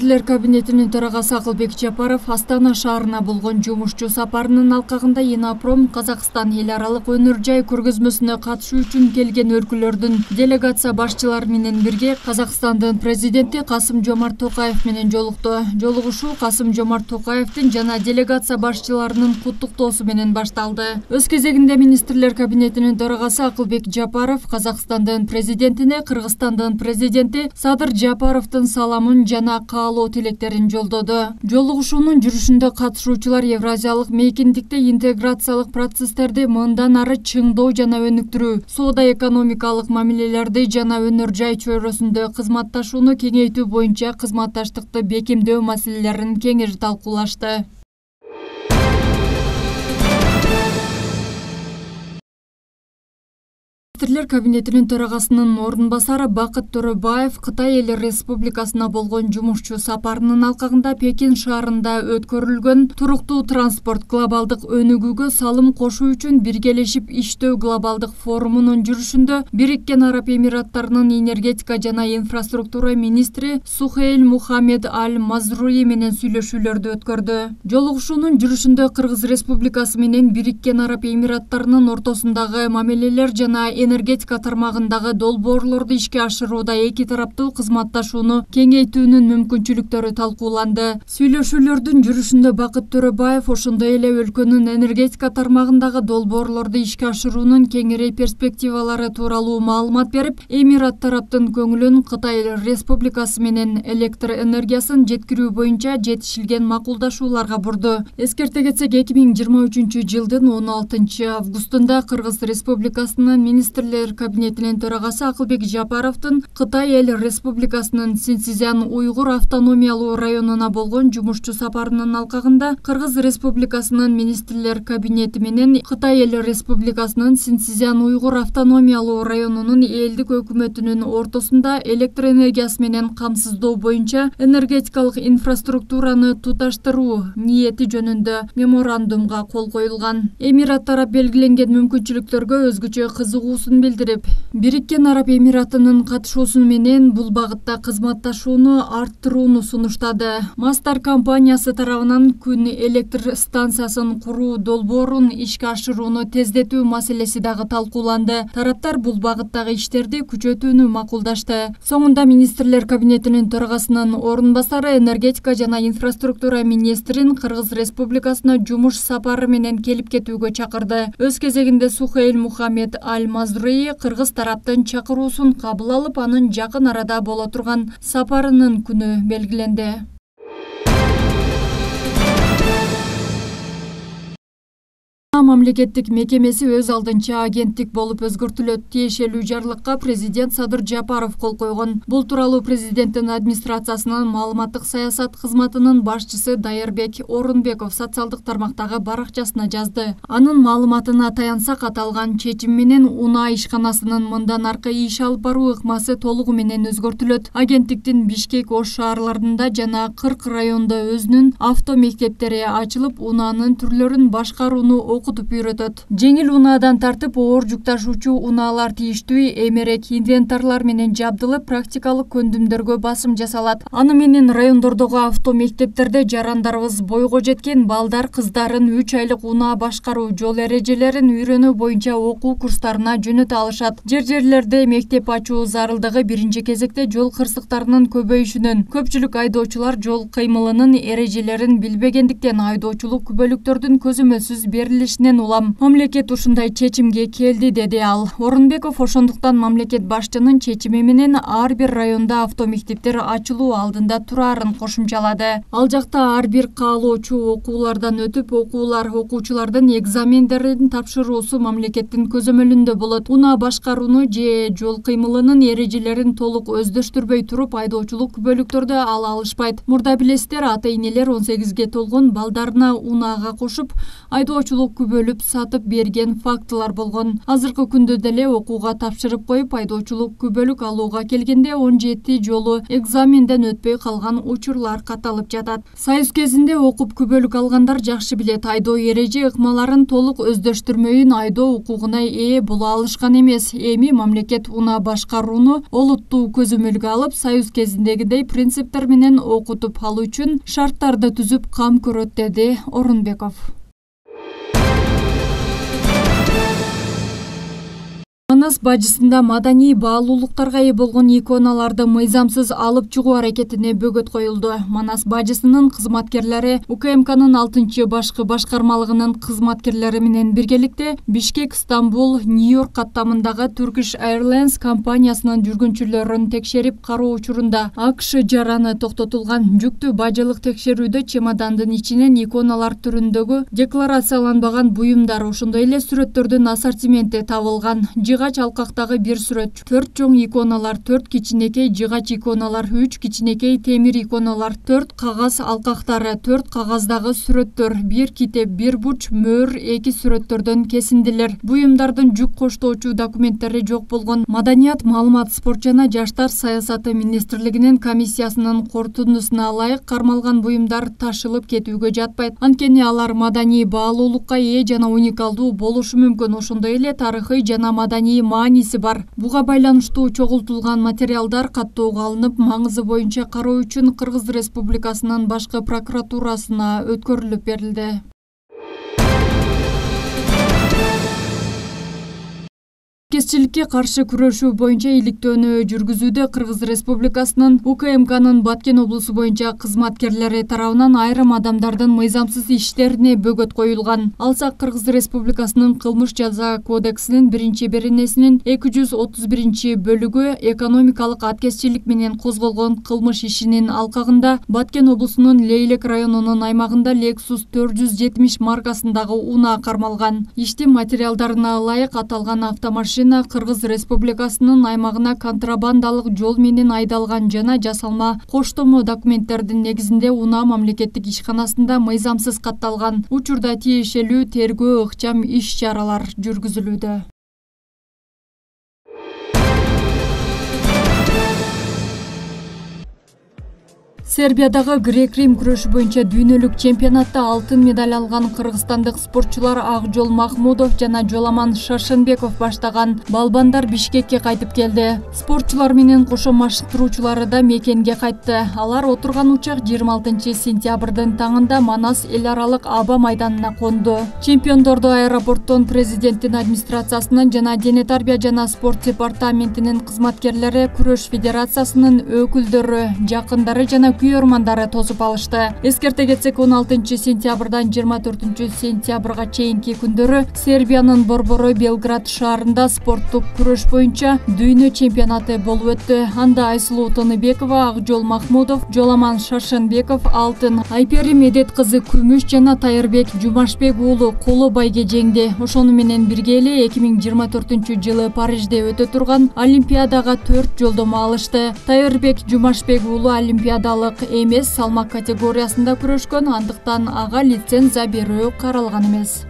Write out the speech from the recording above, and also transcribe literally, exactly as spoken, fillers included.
Министрлер кабинетинин төрагасы Акылбек Жапаров Астана шаарына болгон жумушчу сапарынын алкагында Инопром Казакстан эл аралык өнөр жай көргөзмөсүнө катышуу үчүн келген өлкөлөрдүн делегация башчылары менен бирге Казакстандын президенти Касым-Жомарт Токаев менен жолукту. Жолугушуу Касым-Жомарт Токаевдин жана делегация башчыларынын куттуктоосу менен башталды. Өз кезегинде Министрлер кабинетинин төрагасы Акылбек Жапаров Казакстандын президентине Кыргызстандын президенти Садыр Жапаровдун саламын жана каалоо тилектерин жолдоду. Жолугушуунун жүрүшүндө катышуучулар Евразиялык мейкиндикте интеграциялык процесстерди мындан ары чыңдоо жана өнүктүрүү, соода-экономикалык мамилелерди жана өнөр жай чөйрөсүндө кызматташууну кеңейтүү боюнча кызматташтыкты бекемдөө маселелерин кеңири талкуулашты. Министрлер кабинетинин төрагасынын ордун басары Бакыт Төрөбаев Кытай эл республикасына болгон жумушчу сапарынын алкагында Пекин шаарында өткөрүлгөн туруктуу транспорт глобалдык өнүгүүгө салым кошуу үчүн биргелешип иштөө глобалдык форумунун жүрүшүндө Бириккен Араб Эмираттарынын энергетика жана инфраструктура министри Сухейл Мухаммед Аль-Мазруи менен сүйлөшүүлөрдү өткөрдү. Жолугушуунун жүрүшүндө Кыргыз Республикасы менен Бириккен Араб Эмираттарынын ортосундагы мамилелер жана энергетика тармагындагы долбоорлорду ишке ашырууда эки тараптуу кызматташууну кеңейтүүнүн мүмкүнчүлүктөрү талкууланды. Сүйлөшүүлөрдүн жүрүшүндө Бакыт Төрөбаев ошондой эле өлкөнүн энергетика тармагындагы долбоорлорду ишке ашыруунун кеңири перспективалары тууралуу маалымат берип, Эмират тараптын көңүлүн Кытай Республикасы менен электр энергиясын жеткирүү боюнча жетишилген макулдашууларга бурду. Эскерте кетсек, эки миң жыйырма үчүнчү жылдын он алтынчы августунда Кыргыз Республикасынын министр кабинетинин төрагасы Акылбек Жапаровдун Кытай эл республикасынын Синьцзян уйгур автономиялуу районуна болгон жумушчу сапарынын алкагында Кыргыз Республикасынын министрлер кабинети менен Кытай эл республикасынын Синьцзян уйгур автономиялуу районунун элдик өкмөтүнүн ортосунда электр энергиясы менен камсыздоо боюнча энергетикалык инфраструктураны туташтыруу ниети жөнүндө меморандумга кол коюлган. Эмират тарап белгиленген мүмкүнчүлүктөргө өзгөчө кызыгуусун билдирип, Бириккен Араб Эмиратынын катышуусу менен бул багытта кызматташууну арттырууну сунуштады. Мастар компаниясы тарабынан күн электр станциясын куруу долбоорун ишке ашырууну тездетүү маселеси дагы талкууланды. Тараптар бул багыттагы иштерди күчөтүүнү макулдашты. Соңунда Министрлер кабинетинин төрагасынын ордун басары энергетика жана инфраструктура министрин Кыргыз Республикасына жумуш сапары менен келип кетүүгө чакырды. Өз кезегинде Сухейл Мухаммед Аль-Мазруи Кыргыз тараптын чакыруусун кабыл алып, анын жакын арада боло турган сапарынын күнү белгиленди. Мамлекеттик мекемеси өз алдынча агенттик болуп өзгөртүлөт. Тиешелүү жарлыкка президент Садыр Жапаров кол койгон. Бул тууралуу президенттин администрациясынын маалыматтык саясат кызматынын башчысы Дайырбек Орунбеков социалдык тармактагы баракчасына жазды. Анын маалыматына таянсак, аталган чечим менен унаа ишканасынын мындан аркы иш алып баруу ыкмасы толугу менен өзгөртүлөт. Агенттиктин Бишкек, Ош шаарларында жана кырк райондо өзүнүн авто мектептери ачылып, унаанын түрлөрүн башкарууну окутуп үйрөтөт. Жеңил унаадан тартып оор жүк ташуучу унаалар тийиштүү эмерек инвентарлар менен жабдылып, практикалык көндүмдөргө басым жасалат. Аны менен райондордогу авто мектептерде жарандарыбыз бойго жеткен балдар кыздарын үч айлык унаа башкаруу жол эрежелерин үйрөнүү боюнча окуу курстарына жөнөтө алышат. Жер-жерлерде мектеп ачуу зарылдыгы биринчи кезекте жол кырсыктарынын көбөйүшүнөн, көпчүлүк айдоочулар жол кыймылынын эрежелерин билбегендиктен айдоочулук күбөлүктөрдүн көзөмөлсүз берилишинен улам. Мамлекет ушундай чечимге келди, деди ал. Орунбеков ошондуктан мамлекет башчынын чечими менен ар бир районда автомектептер ачылуу алдында турарын кошумчалады. Ал жакта ар бир каалоочу окуулардан өтүп, окуулар окуучулардын экзамендерин тапшыруусу мамлекеттин көзөмөлүндө болот. Унаа башкарууну же жол кыймылынын эрежелерин толук өздөштүрбөй туруп, айдоочулук күбөлүктөрдү ала алышпайт. Мурда билесиздер, ата-энелер он сегизге толгон балдарына унаага кошуп, айдоочулук күбөлүп сатып берген фактылар болгон. Азыркы күндө деле окууга тапшырып коюп айдоочулук күбөлүк алууга келгенде он жети жолу экзаменден өтпөй калган учурлар катталып жатат. Союз кезинде окуп күбөлүк алгандар жакшы билет, айдоо эреже ыкмаларын толук өздөштүрмөйүн айдоо укугуна ээ боло алышкан эмес. Эми мамлекет унаа башкарууну олуттуу көзөмөлгө алып, союз кезиндегидей принциптер менен окутуп алуу үчүн шарттарды түзүп кам көрөт, деди Орунбеков. Манас бажысында маданий баалуулуктарга ээ болгон иконаларды мыйзамсыз алып чыгуу аракетине бөгөт коюлду. Манас бажысынын кызматкерлери УКМКнын алтынчы башкы башкармалыгынын кызматкерлери менен биргеликте Бишкек, Стамбул, Нью-Йорк каттамындагы Turkish Airlines компаниясынын жүргүнчүлөрүн текшерип кароо учурунда АКШ жараны токтотулган. Жүктүү бажылык текшерүүдө чемодандын ичинен иконалар түрүндөгү декларацияланбаган буюмдар, ошондой эле сүрөттөрдүн ассортименти табылган. Жыгач алкактагы бир сүрөт, төрт чоң иконалар, төрт кичинекей жыгач иконалар, үч кичинекей темир иконалар, төрт кагаз алкактары, төрт кагаздагы сүрөттөр, бир китеп, бир бурч мөөр, эки сүрөттөрдөн кесиндилер. Буюмдардын жүк коштоочу документтери жок болгон. Маданият, маалымат, спорт жана жаштар саясаты министрлигинин комиссиясынын корутундусуна ылайык кармалган буюмдар ташылып кетүүгө жатпайт. Анткени алар маданий баалуулукка ээ жана уникалдуу болушу мүмкүн. Ошондой эле тарыхый жана маданий мааниси бар. Буга байланыштуу чогултулган материалдар каттоого алынып, маңызы боюнча кароо үчүн Кыргыз Республикасынын башкы прокуратурасына өткөрүлүп берилди. Кесчиликке каршы күрөшүү боюнча иликтөөнү жүргүзүүдө Кыргыз Республикасынын УКМКнын Баткен облусу боюнча кызматкерлери тарабынан айрым адамдардын мыйзамсыз иштерине бөгөт коюлган. Алсак, Кыргыз Республикасынын кылмыш жаза кодексинин биринчи беренесинин эки жүз отуз биринчи бөлүгү экономикалык аткезчилик менен козголгон кылмыш ишинин алкагында Баткен облусунун Лейлек районунун аймагында Lexus төрт жүз жетимиш маркасындагы унаа кармалган. Иштин материалдарына ылайык аталган автомашина Кыргыз Республикасынын аймагына контрабандалык жол менен айдалган жана жасалма коштомо документтердин негизинде унаа мамлекеттик ишканасында мыйзамсыз катталган. Учурда тиешелүү тергөө ыкчам иш-чаралар жүргүзүлүүдө. Сербиядагы грек-рим күрөшү боюнча дүйнөлүк чемпионатта алтын медаль алган кыргызстандык спортчулар Акжол Махмудов жана Жоламан Шаршенбеков баштаган балбандар Бишкекке кайтып келди. Спортчулар менен кошо машыктыруучулары да мекенге кайтты. Алар отурган учак жыйырма алтынчы сентябрдын таңында Манас эл аралык аба майданына конду. Чемпиондорду аэропорттон президенттин администрациясынын жана дене тарбия жана спорт департаментинин кызматкерлери, күрөш федерациясынын өкүлдөрү, жакындары жана күйөрмандары тосуп алышты. Эскерте кетсек, он алтынчы сентябрдан жыйырма төртүнчү сентябрга чейинки күндөрү Сербиянын Борборой Белград шаарында спорттук күрөш боюнча дүйнө чемпионаты болуп өттү. Анда Айсулуу Тыныбекова, Акжол Махмудов, Жоламан Шаршенбеков алтын, Айпери Медет кызы күмүш жана Тайырбек Жумашбек уулу коло байге жеңди. Ошону менен бирге эле эки миң жыйырма төртүнчү жылы Парижде өтө турган Олимпиадага төрт жолдомо алышты. Тайырбек Жумашбек уулу олимпиадалык эмес салмак категориясында күрөшкөн, андыктан ага лицензия берүү каралган эмес.